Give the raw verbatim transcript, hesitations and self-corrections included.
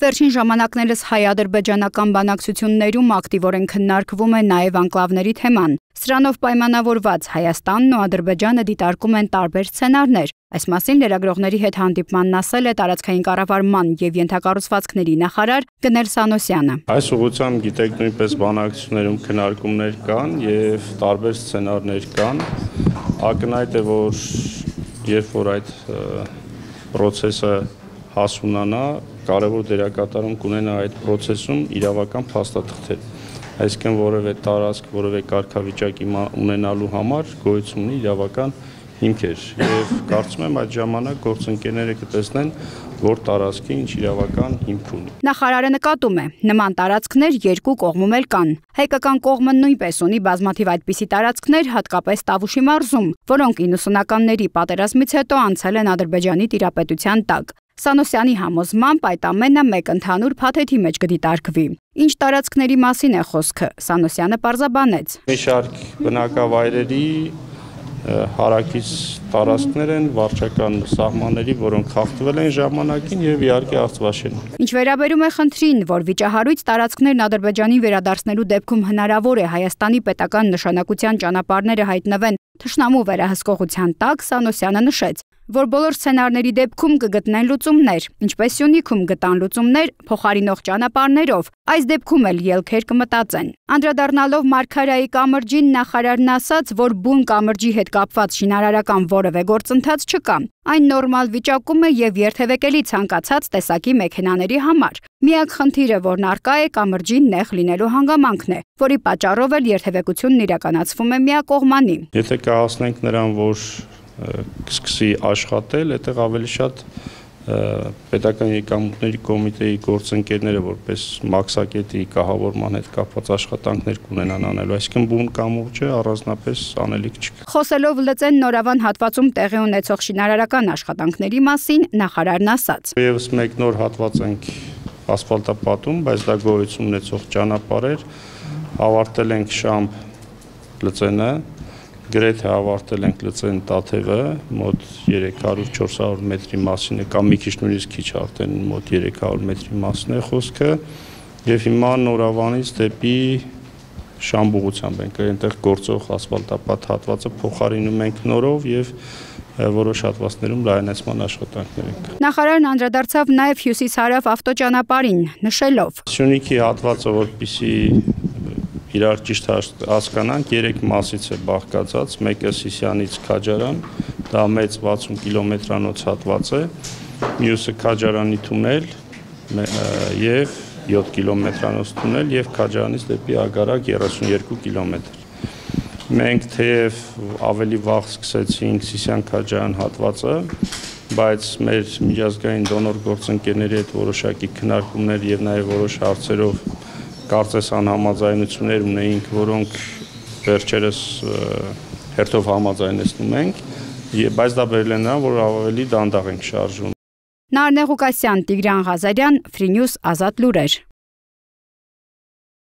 Վերջին ժամանակներս հայ-ադրբեջանական բանակցություններում ակտիվորեն քննարկվում է նաև անկլավների թեման։ Սրանով պայմանավորված Հայաստանն ու Ադրբեջանը դիտարկում են տարբեր սցենարներ։ Այս մասին լրագրողների հետ հանդիպմանն ասել է տարածքային կառավարման եւ ենթակառուցվածքների նախարար Գնել Սանոսյանը։ Այս ուղղությամբ գիտեք նույնպես բանակցություններում քննարկումներ կան եւ տարբեր սցենարներ կան։ Ակնհայտ է, որ երբ որ այդ process-ը հասունանա, կարևոր դերակատարում կունենա այդ process-ում իրավական փաստաթղթեր։ Այսինքն որևէ տարածք, որևէ կարգավիճակ ունենալու համար գոյություն ունի իրավական հիմքեր եւ կարծում եմ այդ ժամանակ գործընկերները կտեսնեն, որ տարածքի ինչ իրավական հիմք ունի։ Նախարարը նկատում է, նման տարածքներ երկու կողմում էլ կան։ Հայկական կողմը նույնպես ունի բազմաթիվ այդպիսի տարածքներ, հատկապես Տավուշի մարզում, որոնք իննսունականների պատերազմից հետո անցել են Ադրբեջանի տիրապետության տակ։ Սանոսյանի համոզմամբ այդ ամենը մեկ ընդհանուր փաթեթի մեջ կդիտարկվի։ Ինչ տարածքների մասին է խոսքը, Սանոսյանը պարզաբանեց։ Մի շարք բնակավայրերի հարակից տարածքներ են վարչական սահմանների, որոնք խախտվել են ժամանակին եւ իհարկե Արցվաշեն։ Ինչ վերաբերում է խնդրին, որ վիճահարույց տարածքներն Ադրբեջանին վերադարձնելու դեպքում հնարավոր է Հայաստանի պետական նշանակության ճանապարհները հայտնվեն թշնամու վերահսկողության տակ, Սանոսյանը նշեց, որ բոլոր սցենարների դեպքում կգտնեն լուծումներ, ինչպես Սյունիքում գտան լուծումներ փոխարինող ճանապարհներով, այս դեպքում էլ ելքեր կմտածեն։ Անդրադառնալով Մարգարայի կամրջին, նախարարն ասաց, որ բուն կամրջի հետ կապված շինարարական որևէ գործընթաց չկա։ Այն նորմալ վիճակում է եւ երթևեկելի ցանկացած տեսակի մեքենաների համար։ Միակ խնդիրը, որն առկա է, կամրջի նեղ լինելու հանգամանքն է, որի պատճառով էլ երթևեկությունն իրականացվում է միակողմանի։ Եթե կհասնենք նրան, որ կսկսի աշխատել, այդտեղ ավելի շատ պետական եկամուտների կոմիտեի գործընկերները որպես մաքսակետի կահավորման հետ կապված աշխատանքներ կունենան անելու, այսինքն բուն կամուրջը առանձնապես անելիք չկա։ Խոսելով Լծեն Նորավան հատվածում տեղի ունեցող շինարարական աշխատանքների մասին, նախարարն ասաց. Եվս մեկ նոր հատված ենք ասֆալտապատում, բայց դա գոյություն ունեցող ճանապարհ էր, ավարտել ենք Շամբ Լծենը, գրեթե ավարտել ենք Լծեն Տաթևը, մոտ երեք հարյուր չորս հարյուր մետրի մասին է, կամ մի քիչ նույնիսկ քիչ արդեն մոտ երեք հարյուր մետրի մասին է խոսքը, եւ հիմա Նորավանից դեպի Շամբ ուղղությամբ ենք այնտեղ գործող ասֆալտապատ հատվածը փոխարինում ենք նորով եւ որոշ հատվածներում լայնացման աշխատանքներ ենք։ Նախարարն անդրադարձավ նաեւ Հյուսիս-Հարավ ավտոճանապարհին, նշելով. Սյունիքի հատվածը, որպեսզի իրար ճիշտ հասկանանք, երեք մասից է բաղկացած, մեկը Սիսյանից Քաջարան, դա մեծ վաթսուն կիլոմետրանոց հատված է, մյուսը Քաջարանի թունել եւ յոթ կիլոմետրանոց թունել եւ Քաջարանից դեպի Ագարակ երեսունյոթ կիլոմետր։ Մենք թեև ավելի վաղ սկսեցինք Սիսյան-Քաջարան հատվածը, բայց մեր միջազգային դոնոր գործընկերների հետ որոշակի քննարկումներ եւ նաեւ որոշ հարցերով կարծես անհամաձայնություններ ունեինք, որոնք վերջերս հերթով համաձայնեցնում ենք, բայց դա բերել է նրան, որ ավելի դանդաղ ենք շարժվում։ Նարնե Ղուկասյան, Տիգրան Ղազարյան, Free News, Ազատ լուրեր։